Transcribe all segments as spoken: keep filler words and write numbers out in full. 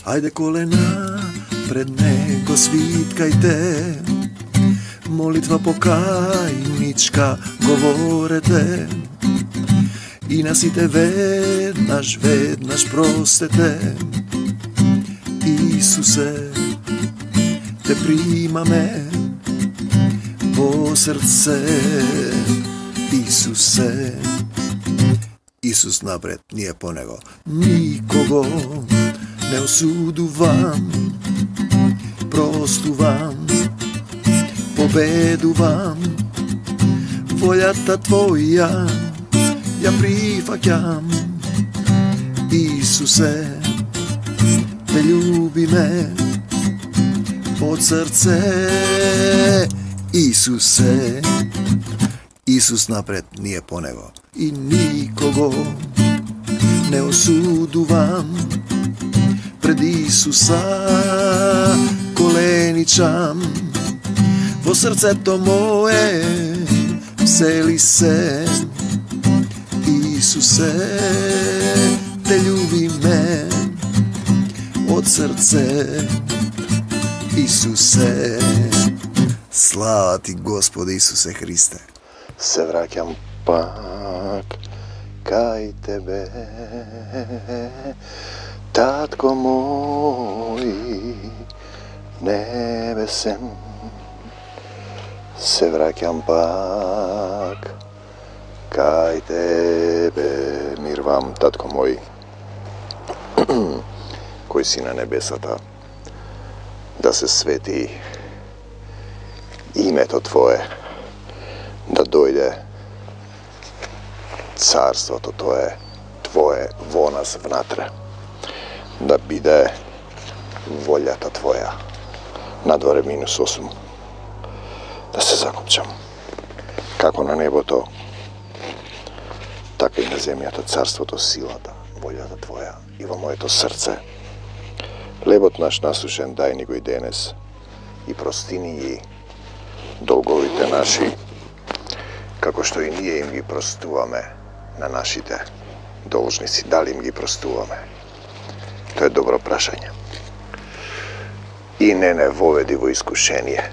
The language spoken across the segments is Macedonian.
Ајде колена пред него свиткајте, молитва покајничка говорете, и на сите веднаш, веднаш простете. Исусе, те примаме во срце. Исусе, Исус напред, ние по него. Никого не осудувам, простувам, победувам. Волјата Твоја ја прифаќам. Исусе, те љубиме од срце. Исусе, Исус напред, ние по него. И никого не осудувам, пред Исуса коленичам. Во срцето мое всели се. Исусе, те љубиме од срце. Исусе, слава Ти Господи Исусе Христе. Се враќам пак кај Тебе, Татко мој небесен. Се враќам пак кај Тебе, мирвам, Татко мој, кој си на небесата, да се свети името Твое, да дојде царството Твое, Твое во нас внатре, да биде волјата Твоја. Надворе минус осум. Да се закопчам. Како на небото, така и на земјата, царството, силата, волјата Твоја и во моето срце. Лебот наш насушен дај ни го и денес, и прости ни ги долговите наши, како што и ние им ги простуваме на нашите должници. Дали им ги простуваме? Тоа е добро прашање. И не не воведи во искушение.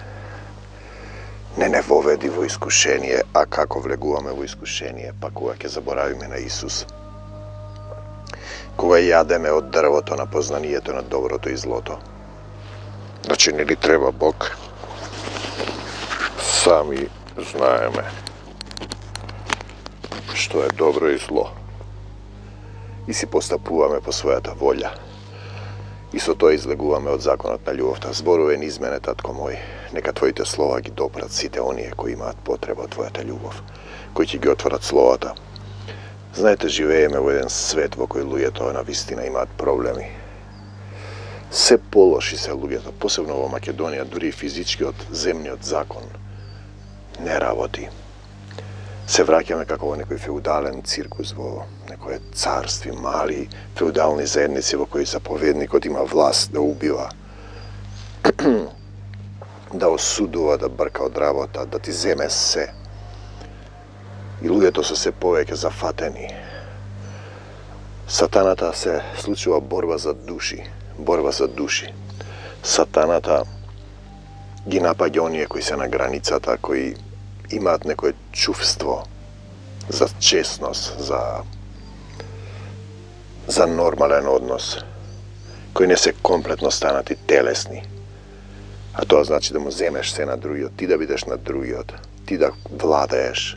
Не не воведи во искушение, а како влегуваме во искушение, па кога ќе заборавиме на Исус. Кога јадеме од дрвото на познанието на доброто и злото. Значи, не ли треба Бог? Сами знаеме што е добро и зло. И си постапуваме по својата волја. И со тоа излегуваме од законот на љубовта. Зборувен измене, Татко мој, нека Твоите слова ги допрат сите оние кои имаат потреба од Твојата љубов, кои ќе ги отворат словата. Знаете, живееме во еден свет во кој луѓето на вистина имаат проблеми. Се полоши се луѓето, посебно во Македонија, дури и физичкиот земниот закон не работи. Се враќаме како во некој феудален циркус, во некој царстви, мали феудални заедници во кои заповедникот има власт да убива, да осудува, да брка од работа, да ти земе се. И луѓето се се повеќе зафатени. Сатаната се случува борба за души, борба за души. Сатаната ги напаѓа оние кои се на границата, кои имаат некое чувство за честност, за за нормален однос, кои не се комплетно станати телесни. А тоа значи да му земеш се на другиот, ти да бидеш на другиот, ти да владееш.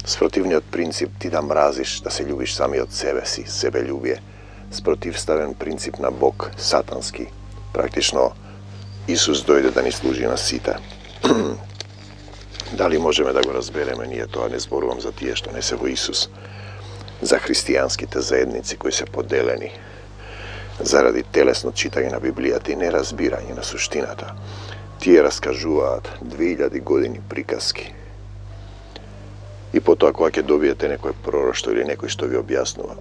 Спротивниот принцип ти да мразиш, да се љубиш самиот себе си, себељубие. Спротивставен принцип на Бог, сатански. Практично Исус дојде да ни служи на сите. Дали можеме да го разбереме ние тоа? Не зборувам за тие што не се во Исус, за христијанските заедници кои се поделени заради телесно читање на Библијата и неразбирање на суштината. Тие раскажуваат две илјади години приказки. И потоа кога ќе добиете некој пророштво или некој што ви објаснува,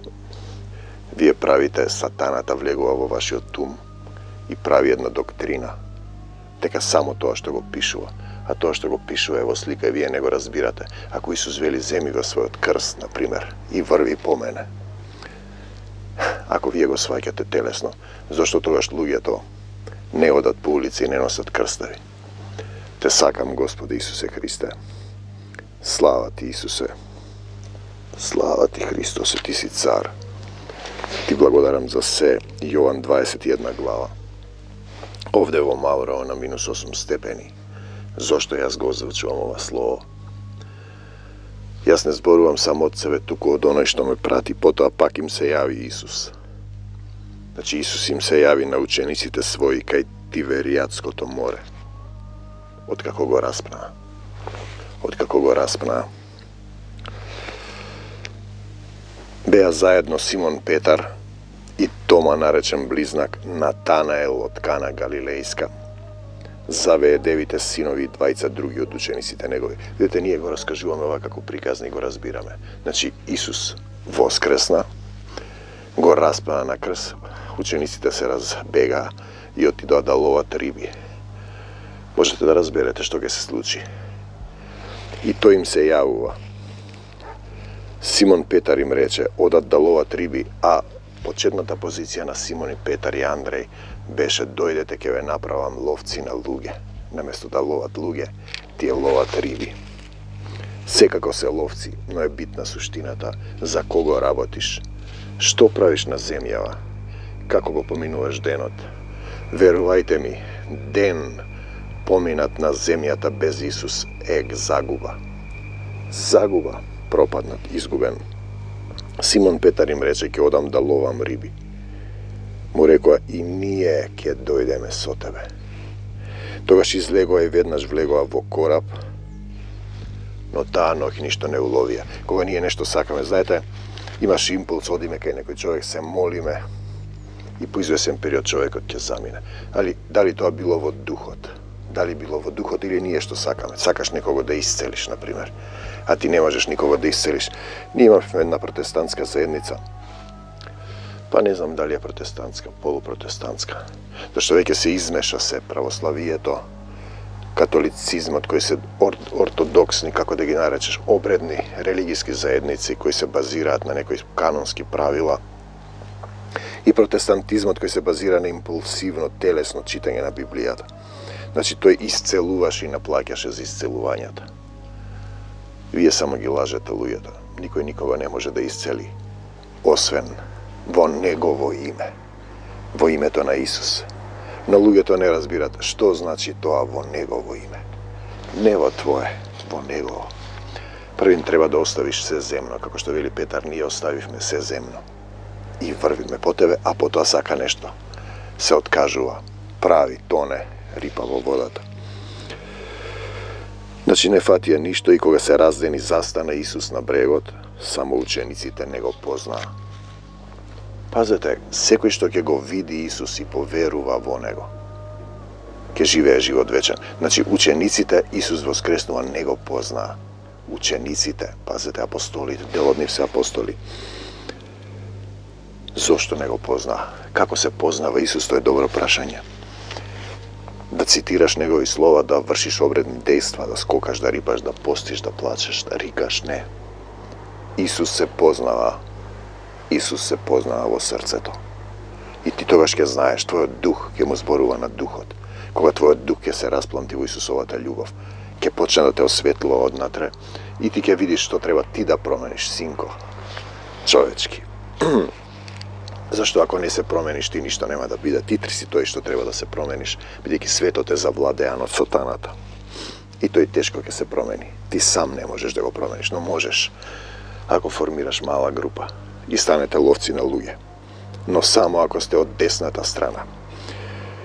вие правите, сатаната влегува во вашиот ум и прави една доктрина, дека само тоа што го пишува, а тоа што го пишува е во слика и вие не го разбирате. Ако Исус вели земи го својот крст, например, и врви по мене, Ако вие го сваќате телесно, зошто тогаш луѓето не одат по улици и не носат крстави? Те сакам, Господи Исусе Христе. Слава ти, Исусе. Слава ти, Христосе, ти си цар. Ти благодарам за се. Јован дваесет и една глава. Овде во Маврово на минус осум степени. Зошто јас го озвучувам ова слово? Јас не зборувам само од себе, туку од оној што ме прати, потоа пак им се јави Исус. Значи Исус им се јави на учениците своји кај Тиверијадското море. Откако го распнаа. Откако го распнаа. Беа заедно Симон Петар и Тома, наречен близнак, Натанаел од Кана Галилејска, Завее девите синови и двајца други од учениците негови. Видете, ние го раскажуваме ова како приказни, го разбираме. Значи, Исус воскресна, го распна на крст, учениците се разбегаа и отидоа да ловат риби. Можете да разберете што ќе се случи. И тој им се јавува. Симон Петар им рече, одат да ловат риби, а почетната позиција на Симон и Петар и Андреј беше дојдете ќе ве направам ловци на луѓе. Наместо да ловат луѓе, тие ловат риби. Секако се ловци, но е битна суштината за кого работиш, што правиш на земјава, како го поминуваш денот. Верувајте ми, ден поминат на земјата без Исус е загуба. Загуба, пропаднат, изгубен. Симон Петар им рече, ќе одам да ловам риби. Му рекоа, и ние ќе дојдеме со тебе. Тогаш излегоа и веднаш влегоа во кораб, но таа ноќ ништо не уловија. Кога ние нешто сакаме, знаете, имаш импулс, одиме кај некој човек, се молиме и по извесен период човекот ќе замине. Али дали тоа било во духот? Дали било во духот или ние што сакаме? Сакаш некого да исцелиш, например, а ти не можеш никого да исцелиш. Ние имавме една протестантска заедница. Па не знам дали е протестантска, полупротестантска. Зашто веќе се измеша се православието, католицизмот, кои се ор, ортодоксни, како да ги наречеш, обредни религиски заедници кои се базираат на некои канонски правила, и протестантизмот кој се базира на импулсивно, телесно читање на Библијата. Значи тој исцелуваше и наплаќаше за исцелувањата. Вие само ги лажете луѓето. Никој никога не може да исцели, освен во негово име, во името на Исус. Но луѓето не разбират што значи тоа во негово име. Не во твое, во негово. Првин треба да оставиш се земно, како што вели Петар, ние оставивме се земно и врвиме по тебе, а потоа сака нешто. Се откажува, прави, тоне, рипа во водата. Значи не фатија ништо и кога се раздени застана Исус на брегот, само учениците не го познаа. Пазете, секој што ќе го види Исус и поверува во него, ќе живее живот вечен. Значи учениците Исус воскреснува не го познаа. Учениците, пазете, апостолите, дел од нив се апостоли. Зошто не го познаа? Како се познава Исус, тоа е добро прашање. Да цитираш негови слова, да вршиш обредни дејства, да скокаш, да рипаш, да постиш, да плачеш, да рикаш, не. Исус се познава. Исус се познава во срцето. И ти тогаш ќе знаеш, твојот дух ќе му зборува на духот. Кога твојот дух ќе се распланти во Исусовата љубов, ќе почне да те осветлува однатре и ти ќе видиш што треба ти да промениш, синко. Човечки. Зашто ако не се промениш, ти ништо нема да биде. Ти си тој што треба да се промениш, бидејќи светот е завладеан од сатаната. И тој тешко ќе се промени. Ти сам не можеш да го промениш, но можеш ако формираш мала група и станете ловци на луѓе. Но само ако сте од десната страна.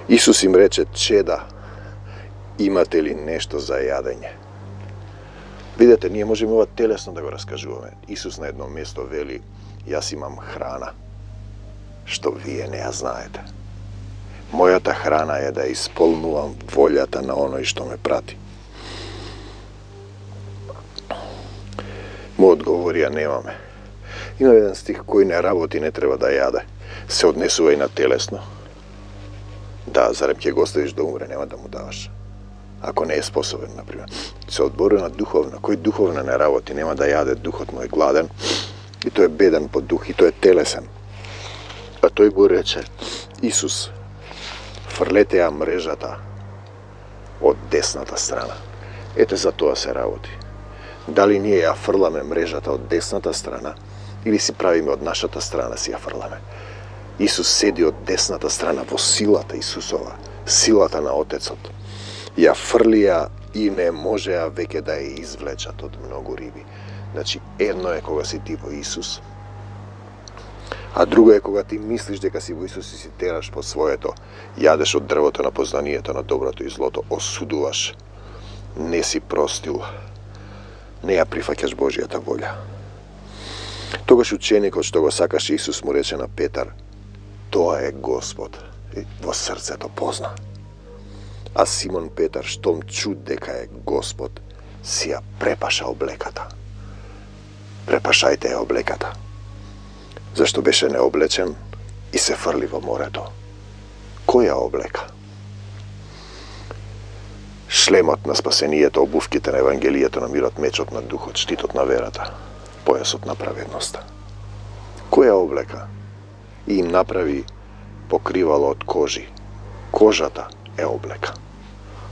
Исус им рече, чеда, имате ли нешто за јадење? Видете, ние можеме ова телесно да го раскажуваме. Исус на едно место вели, јас имам храна, што вие не ја знаете. Мојата храна е да исполнувам волјата на оној што ме прати. Му одговорија, немаме. Има еден стих, кој не работи не треба да јаде. Се однесува и на телесно. Да, зарем ќе го оставиш да умре, нема да му даваш. Ако не е способен, например. Се одборува на духовно. Кој духовно не работи, нема да јаде, духот му е гладен и тој е беден по дух и тој е телесен. А тој му рече: Исус, фрлете ја мрежата од десната страна. Ете за тоа се работи. Дали ние ја фрламе мрежата од десната страна или си правиме од нашата страна си ја фрламе? Исус седи од десната страна во силата Исусова, силата на Отецот. Ја фрлија и не можеа веќе да ја извлечат од многу риби. Значи, едно е кога си ти во Исус, а друго е кога ти мислиш дека си во Исус и си тераш по своето, јадеш од дрвото на познанието на доброто и злото, осудуваш, не си простил, не ја прифаќаш Божијата волја. Тогаш ученикот што го сакаше Исус му рече на Петар: тоа е Господ. И во срцето позна. А Симон Петар, штом чу дека е Господ, си ја препаша облеката. Препашајте ја облеката. Зашто беше необлечен и се фрли во морето. Која облека? Шлемот на спасението, обувките на Евангелието на мирот, мечот на духот, штитот на верата, појасот на праведноста. Која облека? И им направи покривало од кожи. Кожата е облека.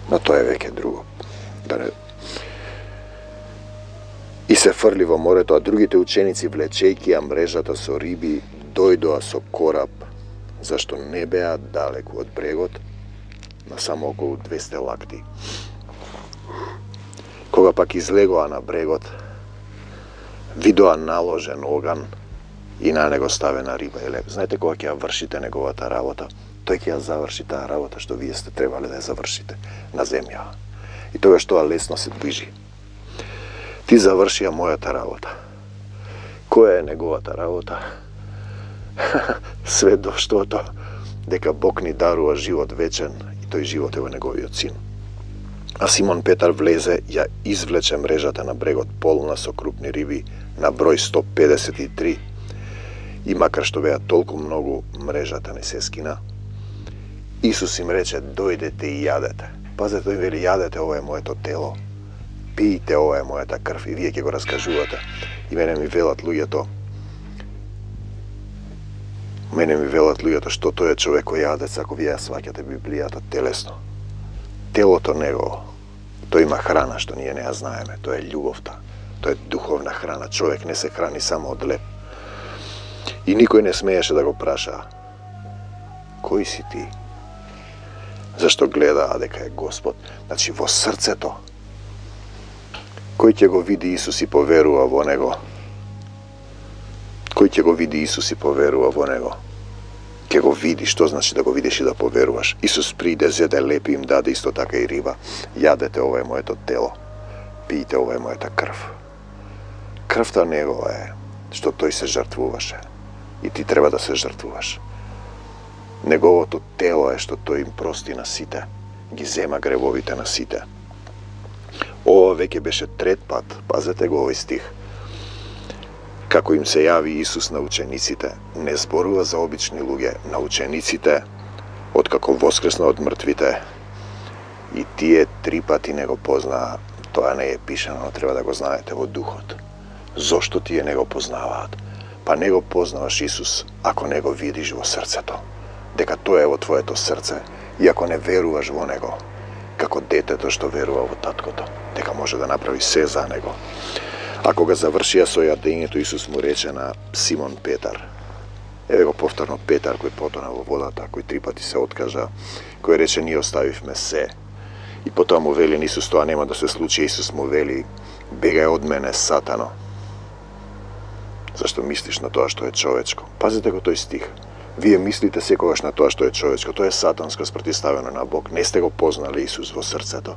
Но тоа е веќе друго. Да не... И се фрли во морето, а другите ученици, влечејќи ја мрежата со риби, дојдоа со кораб, зашто не беа далеку од брегот, на само околу двесте лакти. Кога пак излегоа на брегот, видоа наложен оган и на него ставена риба и леб. Знаете, кога ќе ја вршите неговата работа, тој ќе ја заврши таа работа што вие сте требале да ја завршите на земја. И тогаш тоа лесно се движи. Ти завршија мојата работа. Која е неговата работа? Сведоштвото дека Бог ни дарува живот вечен и тој живот е во неговиот син. А Симон Петар влезе, ја извлече мрежата на брегот полна со крупни риби на број сто педесет и три. И макар што беа толку многу, мрежата не се скина. Исус им рече: дојдете и јадете. Пазете, тој вели: јадете, ова е моето тело. Пијте, ова е мојата крв. И вие ќе го раскажувате. И мене ми велат луѓето, мене ми велат луѓето што тој е човек кој јадец, ако вие ја сваќате Библијата телесно. Телото негово, тој има храна што ние не ја знаеме, тоа е љубовта, тоа е духовна храна. Човек не се храни само од леп. И никој не смееше да го праша: кој си ти? Зашто гледаа дека е Господ. Значи, во срцето. Кој ќе го види Исус и поверува во него? Кој ќе го види Исус и поверува во него? Ќе го види, што значи да го видиш и да поверуваш. Исус приде, зеде лепи, им даде исто така и риба. Јадете, ова е моето тело. Пијте, ова е мојата крв. Крвта негова е што тој се жртвуваше. И ти треба да се жртвуваш. Неговото тело е што тој им прости на сите. Ги зема гревовите на сите. Ова веќе беше трет пат, пазете го овој стих. Како им се јави Исус на учениците, не зборува за обични луѓе, на учениците, откако воскресна од мртвите. И тие три пати не го познаа. Тоа не е пишано, но треба да го знаете во духот. Зошто тие не го познаваат? Па не го познаваш Исус ако не го видиш во срцето. Дека тоа е во твоето срце и ако не веруваш во него, како детето што верува во таткото, дека може да направи се за него. А кога завршија со јадењето, Исус му рече на Симон Петар, еве го повторно Петар кој потона во водата, кој три пати се откажа, кој рече: ние оставивме се. И потоа му вели на Исус: тоа нема да се случи. Исус му вели: бегај од мене, сатано. Зашто мислиш на тоа што е човечко? Пазите го тој стих. Вие мислите секогаш на тоа што е човечко. Тоа е сатанско спротивставено на Бог. Не сте го познали Исус во срцето.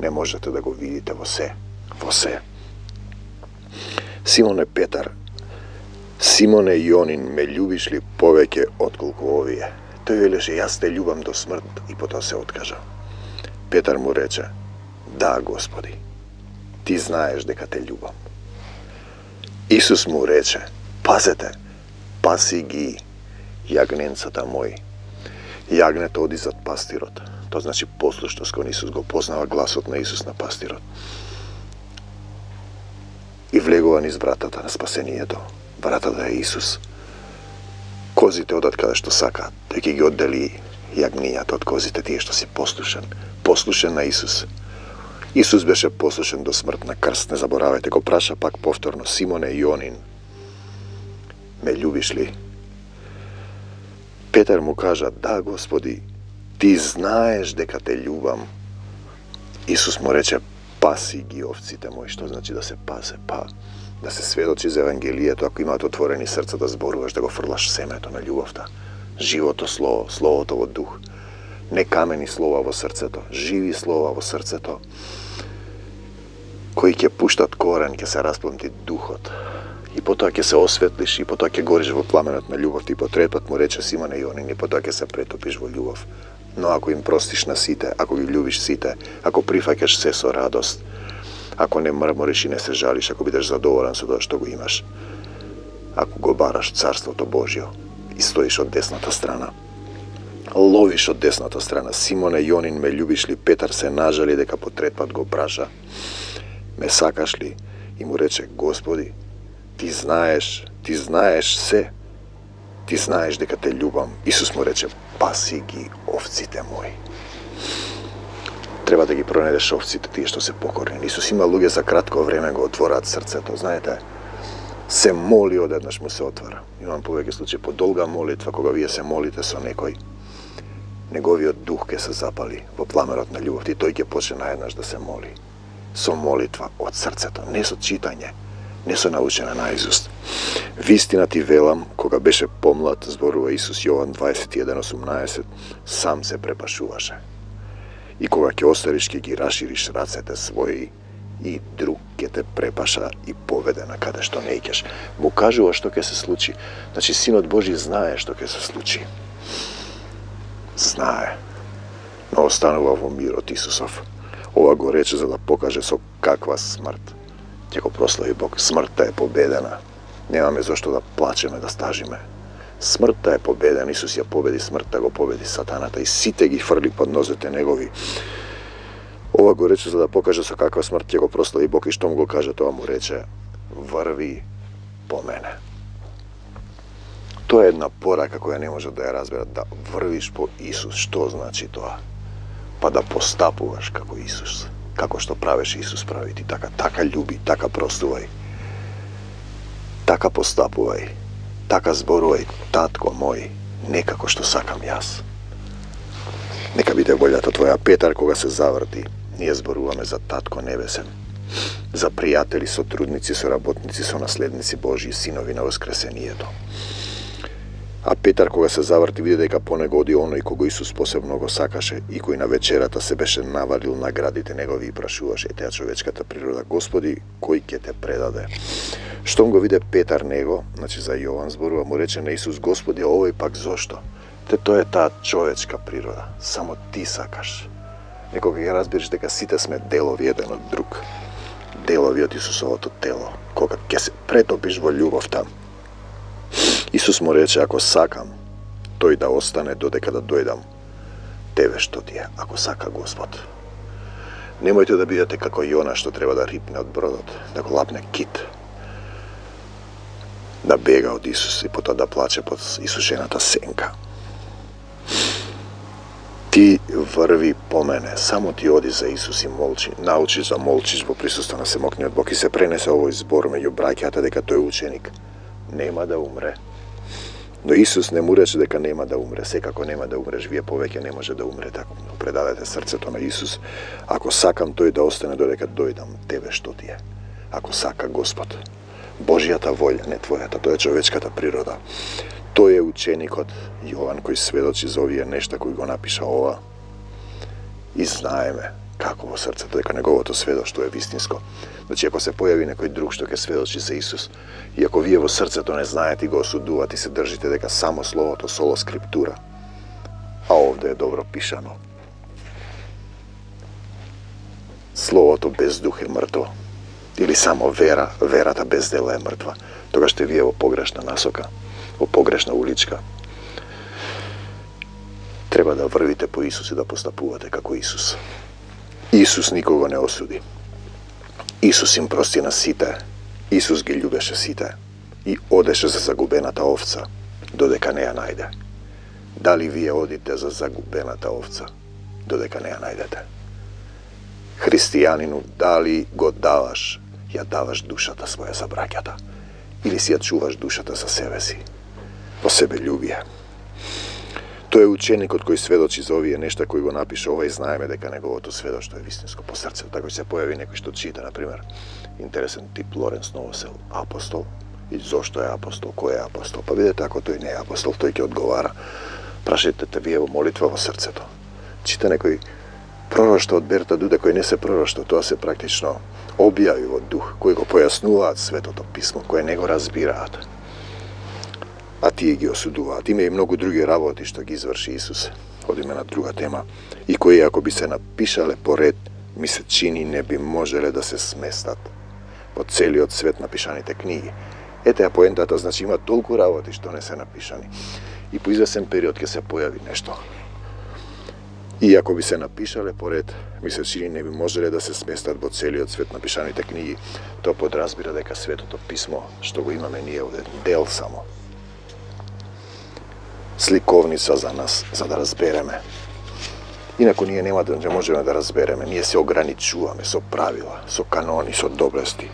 Не можете да го видите во се. Во се. Симоне Петар, Симоне Јонин, ме љубиш ли повеќе отколку овие? Тој велеше: јас те љубам до смрт, и потоа се откажа. Петар му рече: да, Господи, ти знаеш дека те љубам. Исус му рече: пазете, паси ги јагненцата мои. Јагнето оди зад пастирот. Тоа значи послушност кон Исус, го познава гласот на Исус на пастирот. И влегува низ вратата на спасението. Вратата е Исус. Козите одат каде што сакаат, тој ќе ги оддели јагнињата од козите, тие што си послушен, послушен на Исус. Исус беше послушен до смрт на крст, не заборавајте, го праша пак повторно: Симоне Јонин, ме љубиш ли? Петар му кажа: да, Господи, ти знаеш дека те љубам. Исус му рече: паси ги овците мои. Што значи да се пасе? Па, да се сведочи за Евангелието, ако имаат отворени срца, да зборуваш, да го фрлаш семето на љубовта. Живото слово, словото во дух. Не камени слова во срцето, живи слова во срцето, кои ќе пуштат корен, ќе се распланти духот. И потоа ќе се осветлиш, и потоа ќе гориш во пламенот на љубовта. И по трет пат му рече: Симоне Јонин, и потоа ќе се претопиш во љубов. Но ако им простиш на сите, ако ги љубиш сите, ако прифаќаш се со радост, ако не мрмориш и не се жалиш, ако бидеш задоволен со тоа што го имаш, ако го бараш Царството Божјо и стоиш од десната страна, ловиш од десната страна. Симоне Јонин, ме љубиш ли? Петар се нажали дека по трет пат го праша: ме сакаш ли? И му рече: Господи, ти знаеш, ти знаеш се. Ти знаеш дека те љубам. Исус му рече: паси ги овците мои. Треба да ги пронедеш овците, тие што се покорни. Исус има луѓе за кратко време го отвораат срцето. Знаете, се моли, одеднаш му се отвара. Имам повеќе случаи по долга молитва, кога вие се молите со некој, неговиот дух ќе се запали во пламенот на љубовта и тој ќе почне наеднаш да се моли. Со молитва од срцето, не со читање, не со научена наизуст. Вистина ти велам, кога беше помлад, зборува Исус, Јован дваесет и еден осумнаесет, сам се препашуваше. И кога ќе остариш, ќе ги рашириш рацете своји, и друг ќе те препаша и поведе на каде што не икеш. Му кажува што ќе се случи. Значи, Синот Божи знае што ќе се случи. Знае. Но останува во мирот Исусов. Ова го рече за да покаже со каква смрт ќе го прослави Бог. Смртта е победена. Немаме зошто да плачеме, да стажиме. Смртта е победена. Исус ја победи смртта, го победи сатаната и сите ги фрли под нозете негови. Ова го рече за да покаже со каква смрт ќе го прослави Бог, и штом го каже тоа, му рече: врви по мене. Тоа е една порака која не може да ја разберат, да врвиш по Исус. Што значи тоа? Па да постапуваш како Исус. Како што правеше Исус, прави ти така. Така љуби, така простувај. Така постапувај. Така зборувај: татко мој, не како што сакам јас. Нека биде волјата твоја. Петар, кога се заврти, ние зборуваме за Татко Небесен, за пријатели, сотрудници, соработници, сонаследници Божји, синови на воскресението. А Петар, кога се заврти, види дека по него оди оној кого Исус посебно го сакаше и кој на вечерата се беше навалил на градите негови и прашуваше теа човечката природа: Господи, кој ќе те предаде? Штом го виде Петар него, значи за Јован зборува, му рече на Исус: Господи, овој пак зошто? Те тоа е таа човечка природа. Само ти сакаш. Некога ќе разбереш дека сите сме делови еден од друг. Делови од Исусовото тело. Кога ќе се претопиш во љубовта. Исус му рече: ако сакам, тој да остане додека да дојдам. Тебе што ти е, ако сака Господ. Немојте да бидете како Јона, што треба да рипне од бродот, да го лапне кит, да бега од Исус и потоа да плаче под исушената сенка. Ти врви по мене, само ти оди за Исус и молчи, научи да молчиш во присуство на Семокниот Бог. И се пренесе овој збор меѓу браќата дека тој ученик нема да умре. Но Исус не му рече дека нема да умре. Секако нема да умреш, вие повеќе не може да умрете ако предадете срцето на Исус. Ако сакам, тој да остане додека дојдам. Тебе што ти е? Ако сака Господ. Божјата волја, не твојата, тоа е човечката природа. Тој е ученикот Јован кој сведочи за овие нешта кои го напиша ова. И знаеме како во срцето дека неговото сведоштво е вистинско. Значи, ако се појави некој друг што ќе сведочи за Исус, и ако вие во срцето не знаете и го осудувате и се држите дека само словото соло скриптура, а овде е добро пишано, словото без дух е мртво, или само вера, верата без дела е мртва, тогаш сте вие во погрешна насока, во погрешна уличка. Треба да врвите по Исус и да постапувате како Исус. Исус никого не осуди. Исус им прости на сите. Исус ги љубеше сите и одеше за загубената овца. додека не ја најде. Дали вие одите за загубената овца, додека не ја најдете? Христијанину, дали го даваш, ја даваш душата своја за браќата, или си ја чуваш душата за себе си, по себе љубие? Тој е ученикот кој сведочи за овие нешта кои го напише ова и знаеме дека неговото сведоштво е вистинско по срце. Така се појави некој што чита, например, интересен тип Лоренц Новосел, апостол, и зошто е апостол, кој е апостол? Па видете, ако тој не е апостол, тој ќе одговара. Прашајте те вие во молитва во срцето. Чита некој пророштво од Берта Дуде кој не се пророштво, тоа се практично објави во дух, кои го појаснуваат светото писмо, кои не го разбираат. А тие ги осудуваат. Има и многу други работи што ги изврши Исус. Одиме на друга тема. И кои ако би се напишале поред, ми се чини не би можеле да се сместат во целиот свет напишаните книги. Ете ја поентата, значи има толку работи што не се напишани. И по извесен период ќе се појави нешто. И ако би се напишале поред, ми се чини не би можеле да се сместат во целиот свет напишаните книги. Тоа подразбира дека светото писмо што го имаме ние од дел само. Сликовница за нас, за да разбереме. Инаку ние нема да не можеме да разбереме. Ние се ограничуваме со правила, со канони, со доблести.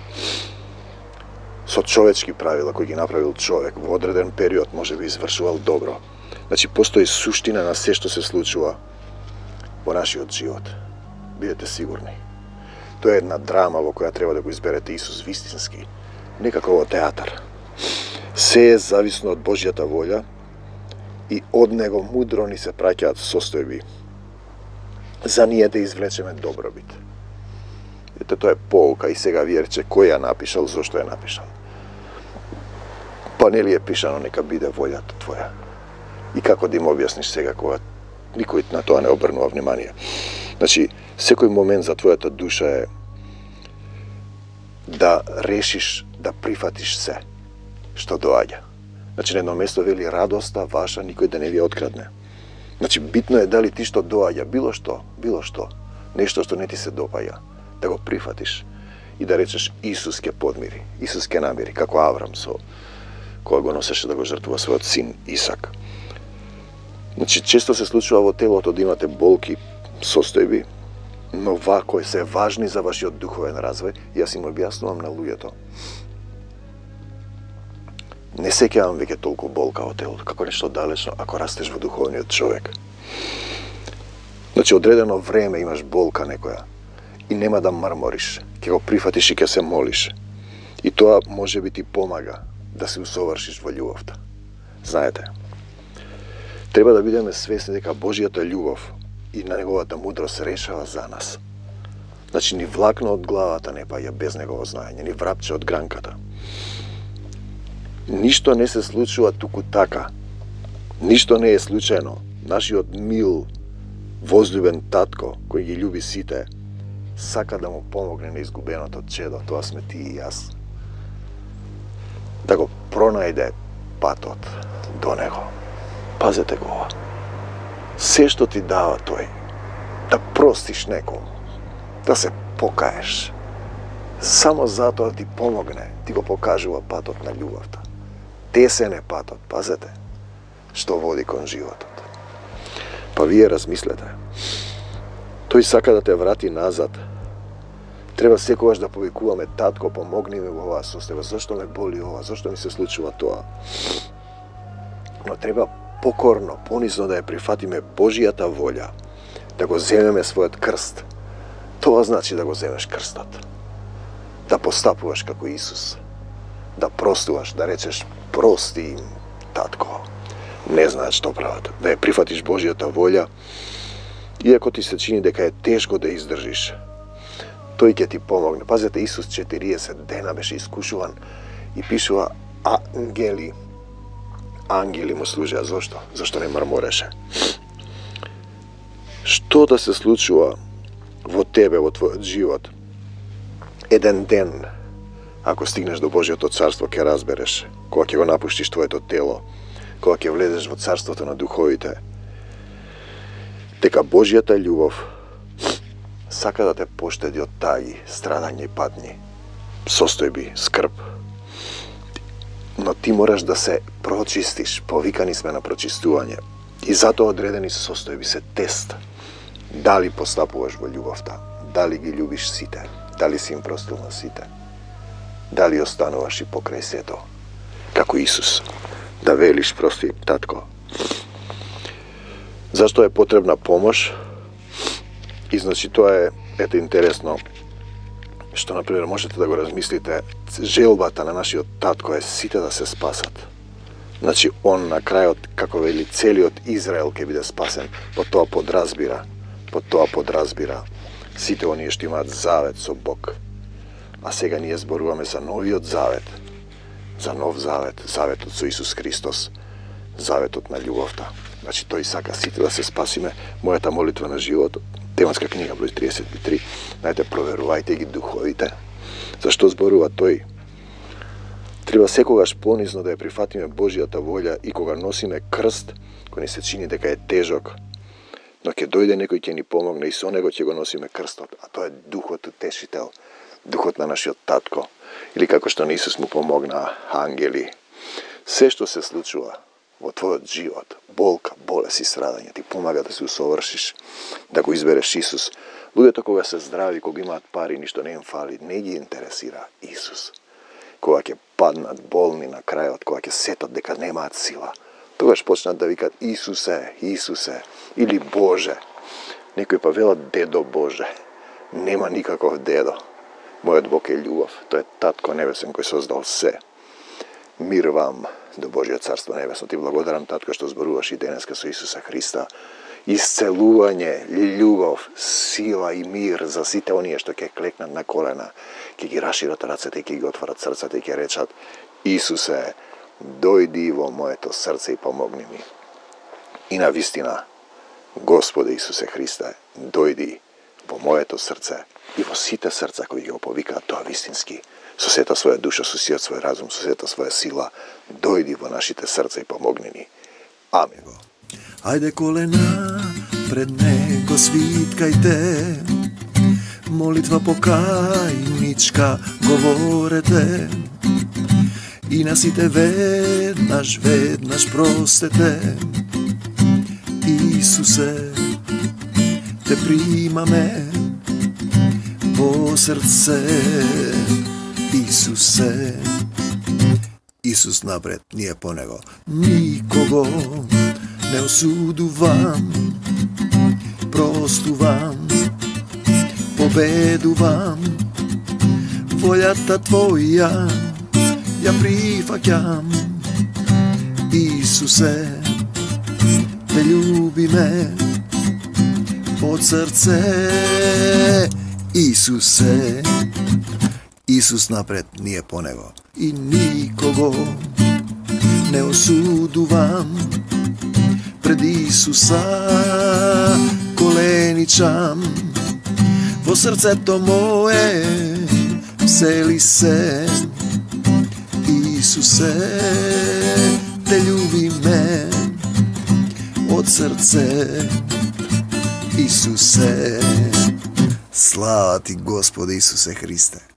Со човечки правила кои ги направил човек во одреден период може би извршувал добро. Значи постои суштина на се што се случува во нашиот живот. Бидете сигурни. Тоа е една драма во која треба да го изберете Исус вистински, не како во театар. Се е зависно од Божјата волја и од него мудро ни се праќаат состојби за ние да извлечеме добробит. Ете, тоа е поука и сега вие рече кој ја напишал, зошто ја напишал. Па нели е пишано нека биде волјата твоја. И како да им објасниш сега кога никој на тоа не обрнува внимание. Значи, секој момент за твојата душа е да решиш да прифатиш се што доаѓа. Значи, на едно место вели радоста ваша никој да не ви открадне. Значи, битно е дали ти што доаѓа, било што, било што, нешто што не ти се допаѓа, да го прифатиш и да речеш Исус ќе подмири, Исус ќе намири, како Аврам со кога го носеше да го жртвува својот син Исак. Значи, често се случува во телото да имате болки, состојби, но вако се важни за вашиот духовен развој, и јас им објаснувам на луѓето. Не сеќавам веќе толку болка во телото, како нешто далечно, ако растеш во духовниот човек. Значи, одредено време имаш болка некоја и нема да мармориш, ќе го прифатиш и ќе се молиш. И тоа може би ти помага да се усовршиш во љубовта. Знаете, треба да бидеме свесни дека Божјата љубов и на неговата мудрост решава за нас. Значи, ни влакно од главата не паѓа без негово знаење, ни врапче од гранката. Ништо не се случува туку така. Ништо не е случајно. Нашиот мил, возлюбен татко, кој ги љуби сите, сака да му помогне на изгубеното чедо, тоа сме ти и јас. Да го пронајде патот до него. Пазете го ова. Се што ти дава тој, да простиш некому, да се покаеш, само затоа ти помогне, ти го покажува патот на љубовта. Тесен е патот, пазете, што води кон животот. Па вие размислете. Тој сака да те врати назад. Треба секогаш да повикуваме татко, помогни ми во оваа состојба, зашто ме боли ова, зашто ми се случува тоа. Но треба покорно, понизно да ја прифатиме Божјата волја, да го земеме својот крст. Тоа значи да го земеш крстот. Да постапуваш како Исус. Да простуваш, да речеш прости им, татко. Не знаат што прават. Да ја прифатиш Божјата волја, иако ти се чини дека е тешко да издржиш. Тој ќе ти помогне. Пазете, Исус четириесет дена беше искушуван и пишува ангели. Ангели му служеа. Зошто? Зашто не мармореше. Што да се случува во тебе, во твојот живот? Еден ден, ако стигнеш до Божјото царство, ќе разбереш, кога ќе го напуштиш твоето тело, кога ќе влезеш во царството на духовите, дека Божјата љубов сака да те поштеди од таги, страдање и патни, состојби, скрб. Но Ти мораш да се прочистиш, повикани сме на прочистување. И затоа одредени состојби се тест. Дали постапуваш во љубовта, дали ги љубиш сите, дали си им простил на сите, дали остануваш и покрај сето, како Исус, да велиш прости татко. Зашто е потребна помош? И значи тоа е, ете интересно, што например можете да го размислите, желбата на нашиот татко е сите да се спасат. Значи он на крајот, како вели, целиот Израел ќе биде спасен, по тоа подразбира, по тоа подразбира сите оние што имаат завет со Бог. А сега ние зборуваме за новиот завет, за нов завет, заветот со Исус Христос, заветот на љубовта. Значи тој сака сите да се спасиме. Мојата молитва на животот, тематска книга број триесет и три, знаете, проверувајте ги духовите. Зашто зборува тој? Треба секогаш понизно да ја прифатиме Божјата волја и кога носиме крст, кој ни се чини дека е тежок, но ќе дојде некој ќе ни помогне и со него ќе го носиме крстот, а тоа е духот утешител, духот на нашиот татко, или како што на Исус му помогна ангели. Се што се случува во твојот живот, болка, болест и страдање, ти помага да се усовршиш, да го избереш Исус. Луѓето кога се здрави, кога имаат пари, ништо не им фали, не ги интересира Исус. Кога ќе паднат болни на крајот, кога ќе сетат дека немаат сила, тогаш почнат да викат Исусе, Исусе, или Боже. Некој па велат дедо Боже. Нема никаков дедо. Мојот Бог е љубов, тој е татко небесен кој создал се. Мир вам до Божјо царство небесно. Ти благодарам, татко, што зборуваш и денеска со Исуса Христа. Исцелување, љубов, сила и мир за сите оние што ќе клекнат на колена, ќе ги рашират рацете и ќе ги отворат срцата и ќе речат Исусе, дојди во моето срце и помогни ми. И на вистина, Господе Исусе Христе, дојди во моето срце и во сите срца кои ги го повикаат тоа вистински, со сета своја душа, со сиот свој разум, со сета своја сила, дојди во нашите срца и помогни ни. Амин. Ајде колена пред него свиткајте, молитва покајничка говорете, и на сите веднаш, веднаш простете. Исусе, те примаме во срце. Исусе, Исус напред, ние по него. Никого не осудувам, простувам, победувам. Волјата Твоја ја прифаќам. Исусе, те љубиме од срце. Исусе, Исус напред, ние по него. И никого не осудувам, пред Исуса коленичам. Во срцето мое всели се. Исусе, те љубиме од срце. Исусе, слава ти Господи Исусе Христе.